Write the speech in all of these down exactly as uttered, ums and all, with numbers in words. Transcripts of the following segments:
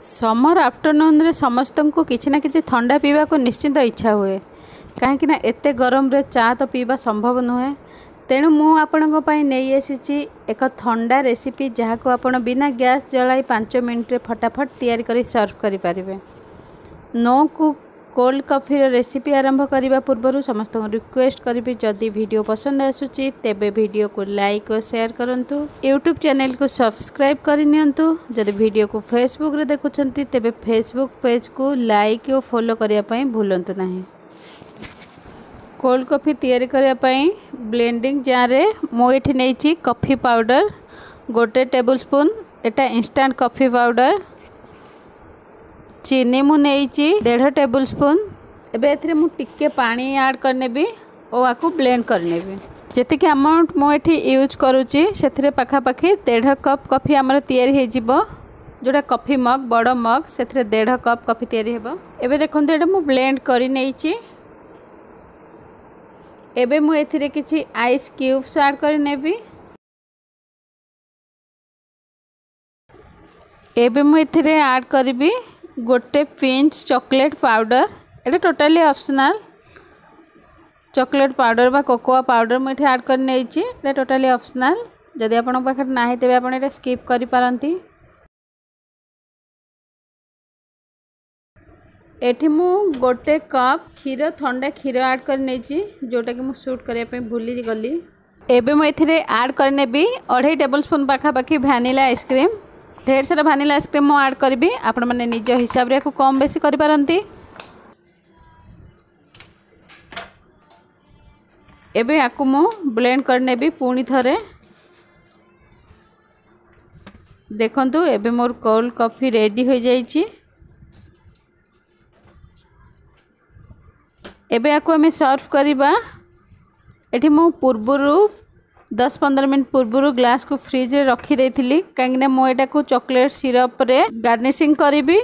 ସମର ଆଫ୍ଟରନୁନ୍ରେ ସମସ୍ତଙ୍କୁ କିଛି ନା କିଛି ଥଣ୍ଡା ପିଇବାକୁ ନିଶ୍ଚିନ୍ତ ଇଚ୍ଛା ହୁଏ, କାହିଁକିନା ଏତେ ଗରମରେ ଚା ତ ପିଇବା ସମ୍ଭବ ନୁହେଁ। ତେଣୁ ମୁଁ ଆପଣଙ୍କ ପାଇଁ ନେଇ ଆସିଛି ଏକ ଥଣ୍ଡା ରେସିପି, ଯାହାକୁ ଆପଣ ବିନା ଗ୍ୟାସ୍ ଜଳାଇ ପାଞ୍ଚ ମିନିଟ୍ରେ ଫଟାଫଟ ତିଆରି କରି ସର୍ଭ କରିପାରିବେ। ନୋ କୁକ୍ କୋଲ୍ଡ କଫିର ରେସିପି ଆରମ୍ଭ କରିବା ପୂର୍ବରୁ ସମସ୍ତଙ୍କୁ ରିକ୍ୱେଷ୍ଟ କରିବି, ଯଦି ଭିଡ଼ିଓ ପସନ୍ଦ ଆସୁଛି ତେବେ ଭିଡ଼ିଓକୁ ଲାଇକ୍ ଓ ସେୟାର କରନ୍ତୁ, ୟୁଟ୍ୟୁବ୍ ଚ୍ୟାନେଲକୁ ସବସ୍କ୍ରାଇବ୍ କରିନିଅନ୍ତୁ। ଯଦି ଭିଡ଼ିଓକୁ ଫେସବୁକ୍ରେ ଦେଖୁଛନ୍ତି ତେବେ ଫେସବୁକ୍ ପେଜ୍କୁ ଲାଇକ୍ ଓ ଫଲୋ କରିବା ପାଇଁ ଭୁଲନ୍ତୁ ନାହିଁ। କୋଲ୍ଡ କଫି ତିଆରି କରିବା ପାଇଁ ବ୍ଲେଣ୍ଡିଂ ଜାର୍ରେ ମୁଁ ଏଠି ନେଇଛି କଫି ପାଉଡ଼ର ଗୋଟେ ଟେବୁଲ୍ ସ୍ପୁନ୍, ଏଟା ଇନଷ୍ଟାଣ୍ଟ କଫି ପାଉଡ଼ର। ଚିନି ମୁଁ ନେଇଛି ଦେଢ଼ ଟେବୁଲ୍ ସ୍ପୁନ୍। ଏବେ ଏଥିରେ ମୁଁ ଟିକେ ପାଣି ଆଡ଼୍ କରିନେବି ଓ ଆକୁ ବ୍ଲେଣ୍ଡ କରିନେବି। ଯେତିକି ଆମାଉଣ୍ଟ ମୁଁ ଏଠି ୟୁଜ୍ କରୁଛି ସେଥିରେ ପାଖାପାଖି ଦେଢ଼ କପ୍ କଫି ଆମର ତିଆରି ହେଇଯିବ। ଯେଉଁଟା କଫି ମଗ୍, ବଡ଼ ମଗ୍, ସେଥିରେ ଦେଢ଼ କପ୍ କଫି ତିଆରି ହେବ। ଏବେ ଦେଖନ୍ତୁ ଏଇଟା ମୁଁ ବ୍ଲେଣ୍ଡ କରିନେଇଛି। ଏବେ ମୁଁ ଏଥିରେ କିଛି ଆଇସ୍ କ୍ୟୁବ୍ସ ଆଡ଼୍ କରିନେବି। ଏବେ ମୁଁ ଏଥିରେ ଆଡ଼୍ କରିବି ଗୋଟେ ପିଞ୍ଚ ଚକୋଲେଟ୍ ପାଉଡ଼ର। ଏଇଟା ଟୋଟାଲି ଅପସନାଲ୍। ଚକୋଲେଟ୍ ପାଉଡ଼ର ବା କୋକୋଆ ପାଉଡ଼ର ମୁଁ ଏଠି ଆଡ଼୍ କରି ନେଇଛି, ଏଇଟା ଟୋଟାଲି ଅପସନାଲ୍। ଯଦି ଆପଣଙ୍କ ପାଖରେ ନାହିଁ ତେବେ ଆପଣ ଏଇଟା ସ୍କିପ୍ କରିପାରନ୍ତି। ଏଠି ମୁଁ ଗୋଟେ କପ୍ କ୍ଷୀର, ଥଣ୍ଡା କ୍ଷୀର ଆଡ଼୍ କରି ନେଇଛି, ଯେଉଁଟାକି ମୁଁ ସୁଟ୍ କରିବା ପାଇଁ ଭୁଲିଗଲି। ଏବେ ମୁଁ ଏଥିରେ ଆଡ଼୍ କରିନେବି ଅଢ଼େଇ ଟେବୁଲ୍ ସ୍ପୁନ୍ ପାଖାପାଖି ଭ୍ୟାନିଲା ଆଇସ୍କ୍ରିମ୍। ଢେର ସାରା ଭାନିଲା ଆଇସ୍କ୍ରିମ୍ ମୁଁ ଆଡ଼୍ କରିବି, ଆପଣମାନେ ନିଜ ହିସାବରେ ୟାକୁ କମ୍ ବେଶୀ କରିପାରନ୍ତି। ଏବେ ୟାକୁ ମୁଁ ବ୍ଲେଣ୍ଡ କରିନେବି ପୁଣି ଥରେ। ଦେଖନ୍ତୁ ଏବେ ମୋର କୋଲ୍ଡ କଫି ରେଡ଼ି ହୋଇଯାଇଛି। ଏବେ ୟାକୁ ଆମେ ସର୍ଭ କରିବା। ଏଠି ମୁଁ ପୂର୍ବରୁ ଦଶ ପନ୍ଦର ମିନିଟ୍ ପୂର୍ବରୁ ଗ୍ଲାସ୍କୁ ଫ୍ରିଜ୍ରେ ରଖିଦେଇଥିଲି, କାହିଁକିନା ମୁଁ ଏଟାକୁ ଚକୋଲେଟ୍ ସିରପ୍ରେ ଗାର୍ନିସିଂ କରିବି।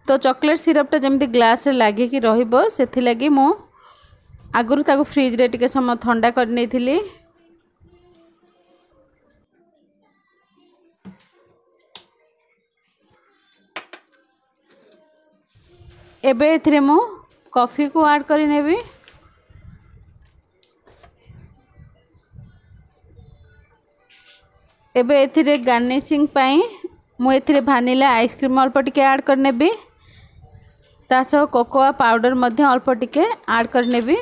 ତ ଚକୋଲେଟ୍ ସିରପ୍ଟା ଯେମିତି ଗ୍ଲାସ୍ରେ ଲାଗିକି ରହିବ ସେଥିଲାଗି ମୁଁ ଆଗରୁ ତାକୁ ଫ୍ରିଜ୍ରେ ଟିକେ ସମୟ ଥଣ୍ଡା କରିନେଇଥିଲି। ଏବେ ଏଥିରେ ମୁଁ କଫିକୁ ଆଡ଼୍ କରିନେବି। ଏବେ ଏଥିରେ ଗାର୍ନିସିଂ ପାଇଁ ମୁଁ ଏଥିରେ ଭାନିଲା ଆଇସ୍କ୍ରିମ୍ ଅଳ୍ପ ଟିକେ ଆଡ଼୍ କରିନେବି, ତା ସହ କୋକୋଆ ପାଉଡ଼ର ମଧ୍ୟ ଅଳ୍ପ ଟିକେ ଆଡ଼୍ କରିନେବି।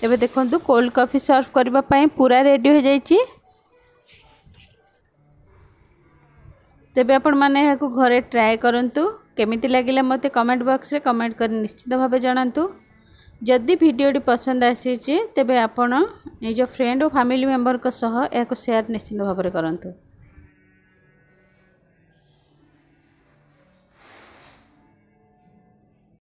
ଏବେ ଦେଖନ୍ତୁ କୋଲ୍ଡ କଫି ସର୍ଭ କରିବା ପାଇଁ ପୁରା ରେଡ଼ି ହୋଇଯାଇଛି। ତେବେ ଆପଣମାନେ ଏହାକୁ ଘରେ ଟ୍ରାଏ କରନ୍ତୁ। କେମିତି ଲାଗିଲା ମୋତେ କମେଣ୍ଟ ବକ୍ସରେ କମେଣ୍ଟ କରି ନିଶ୍ଚିତ ଭାବେ ଜଣାନ୍ତୁ। ଯଦି ଭିଡ଼ିଓଟି ପସନ୍ଦ ଆସିଛି ତେବେ ଆପଣ ନିଜ ଫ୍ରେଣ୍ଡ ଓ ଫ୍ୟାମିଲି ମେମ୍ବରଙ୍କ ସହ ଏହାକୁ ସେୟାର ନିଶ୍ଚିତ ଭାବରେ କରନ୍ତୁ।